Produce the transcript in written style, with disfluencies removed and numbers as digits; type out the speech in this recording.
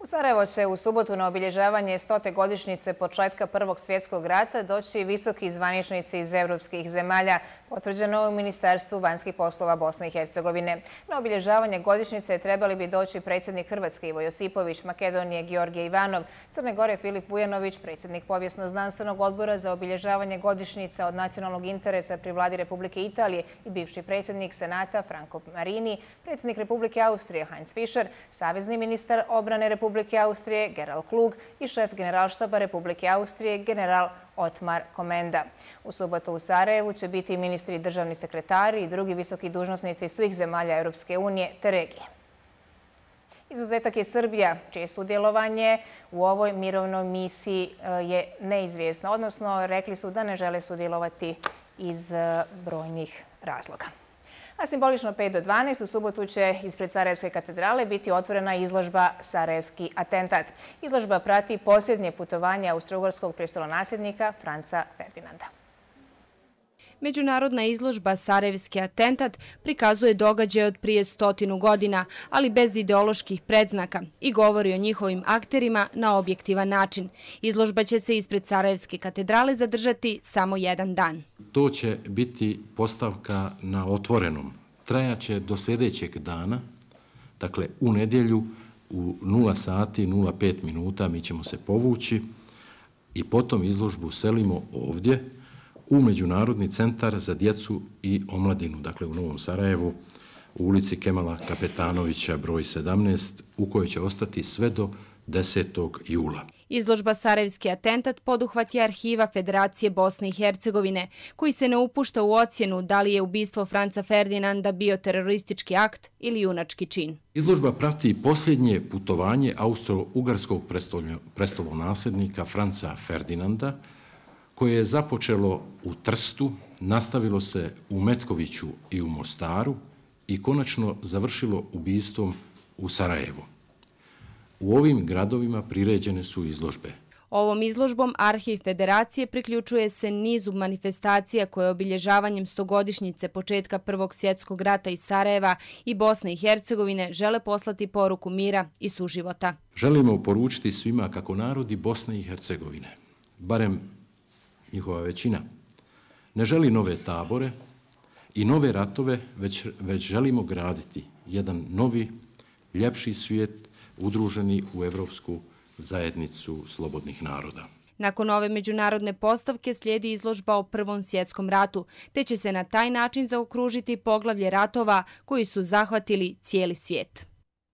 U Sarajevo će u subotu na obilježavanje 100. godišnjice početka Prvog svjetskog rata doći visoki zvaničnici iz evropskih zemalja, potvrđeno u Ministarstvu vanjskih poslova Bosne i Hercegovine. Na obilježavanje godišnjice trebali bi doći predsjednik Hrvatske Ivo Josipović, Makedonije Georgije Ivanov, Crne Gore Filip Vujanović, predsjednik Povijesno-znanstvenog odbora za obilježavanje godišnjica od nacionalnog interesa pri vladi Republike Italije i bivši predsjednik Senata Franco Marini, predsjednik Republike Austrije Heinz Fischer, savezni ministar obrane Republike Austrije Gerald Klug i šef generalštaba Republike Austrije general Otmar Komenda. U subotu u Sarajevu će biti ministri i državni sekretari i drugi visoki dužnosnici svih zemalja Europske unije te regije. Izuzetak je Srbija, čije sudjelovanje u ovoj mirovnoj misiji je neizvjesno, odnosno rekli su da ne žele sudjelovati iz brojnih razloga. A simbolično 5 do 12 u subotu će ispred Sarajevske katedrale biti otvorena izložba Sarajevski atentat. Izložba prati posljednje putovanje austro-ugarskog prestolonasljednika Franca Ferdinanda. Međunarodna izložba Sarajevski atentat prikazuje događaje od prije 100 godina, ali bez ideoloških predznaka i govori o njihovim akterima na objektivan način. Izložba će se ispred Sarajevske katedrale zadržati samo jedan dan. To će biti postavka na otvorenom. Trajaće do sljedećeg dana, dakle u nedjelju u 0 sati 05 minuta mi ćemo se povući i potom izložbu selimo ovdje u Međunarodni centar za djecu i omladinu, dakle u Novom Sarajevu, u ulici Kemala Kapetanovića broj 17, u kojoj će ostati sve do 10. jula. Izložba Sarajevski atentat poduhvat je arhiva Federacije Bosne i Hercegovine, koji se ne upušta u ocjenu da li je ubistvo Franca Ferdinanda bio teroristički akt ili junački čin. Izložba prati posljednje putovanje austro-ugarskog prestolonasljednika Franca Ferdinanda, koje je započelo u Trstu, nastavilo se u Metkoviću i u Mostaru i konačno završilo ubistvom u Sarajevu. U ovim gradovima priređene su izložbe. Ovom izložbom Arhiv Federacije priključuje se nizu manifestacija koje obilježavanjem 100-godišnjice početka Prvog svjetskog rata iz Sarajeva i Bosne i Hercegovine žele poslati poruku mira i suživota. Želimo poručiti svima kako narodi Bosne i Hercegovine, barem njihova većina, ne želi nove tabore i nove ratove, već želimo graditi jedan novi, ljepši svijet udruženi u Evropsku zajednicu slobodnih naroda. Nakon ove međunarodne postavke slijedi izložba o Prvom svjetskom ratu, te će se na taj način zaokružiti poglavlje ratova koji su zahvatili cijeli svijet.